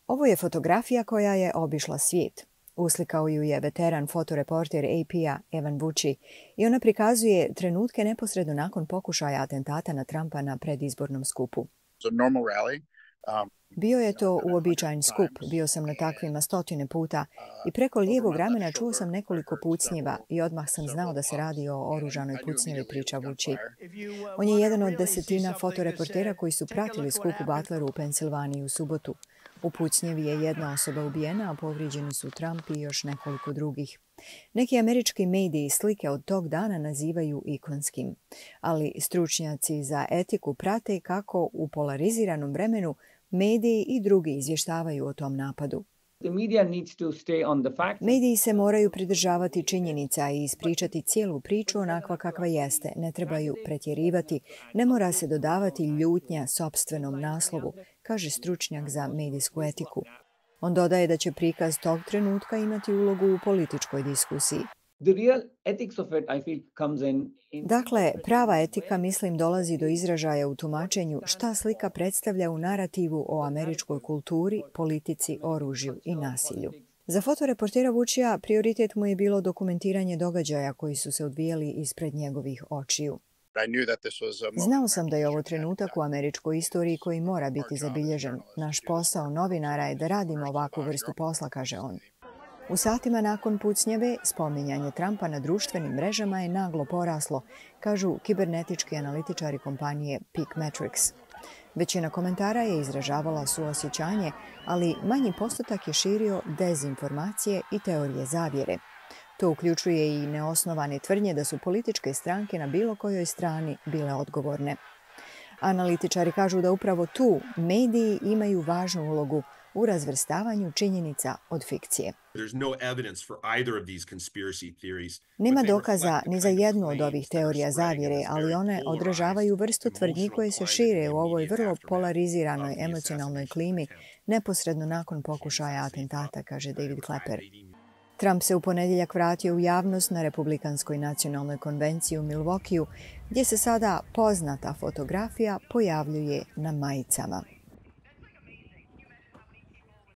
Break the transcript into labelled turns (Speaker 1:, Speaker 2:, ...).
Speaker 1: Ovo je fotografija koja je obišla svijet. Uslikao ju je veteran fotoreporter AP-a Evan Vucci i ona prikazuje trenutke neposredno nakon pokušaja atentata na Trumpa na predizbornom skupu. Bio je to uobičajen skup, bio sam na takvima stotine puta i preko lijevog ramena čuo sam nekoliko pucnjeva i odmah sam znao da se radi o oružanoj pucnjevi, priča Vucci. On je jedan od desetina fotoreportera koji su pratili skup u Butleru u Pensilvaniji u subotu. U pucnjevi je jedna osoba ubijena, a povrijeđeni su Trump i još nekoliko drugih. Neki američki mediji slike od tog dana nazivaju ikonskim, ali stručnjaci za etiku prate kako u polariziranom vremenu mediji i drugi izvještavaju o tom napadu. Mediji se moraju pridržavati činjenica i ispričati cijelu priču onakva kakva jeste. Ne trebaju pretjerivati, ne mora se dodavati ljutnja sopstvenom naslovu, kaže stručnjak za medijsku etiku. On dodaje da će prikaz tog trenutka imati ulogu u političkoj diskusiji. Dakle, prava etika, mislim, dolazi do izražaja u tumačenju šta slika predstavlja u narativu o američkoj kulturi, politici, oružju i nasilju. Za fotoreportera Vuccija prioritet mu je bilo dokumentiranje događaja koji su se odvijali ispred njegovih očiju. Znao sam da je ovo trenutak u američkoj istoriji koji mora biti zabilježen. Naš posao novinara je da radimo ovakvu vrstu posla, kaže on. U satima nakon pucnjeve, spominjanje Trumpa na društvenim mrežama je naglo poraslo, kažu kibernetički analitičari kompanije Peak Metrics. Većina komentara je izražavala suosjećanje, ali manji postotak je širio dezinformacije i teorije zavjere. To uključuje i neosnovane tvrdnje da su političke stranke na bilo kojoj strani bile odgovorne. Analitičari kažu da upravo tu mediji imaju važnu ulogu u razvrstavanju činjenica od fikcije. Nema dokaza ni za jednu od ovih teorija zavjere, ali one odražavaju vrstu tvrdnji koje se šire u ovoj vrlo polariziranoj emocionalnoj klimi neposredno nakon pokušaja atentata, kaže David Klepper. Trump se u ponedjeljak vratio u javnost na Republikanskoj nacionalnoj konvenciji u Milwaukeeu, gdje se sada poznata fotografija pojavljuje na majicama.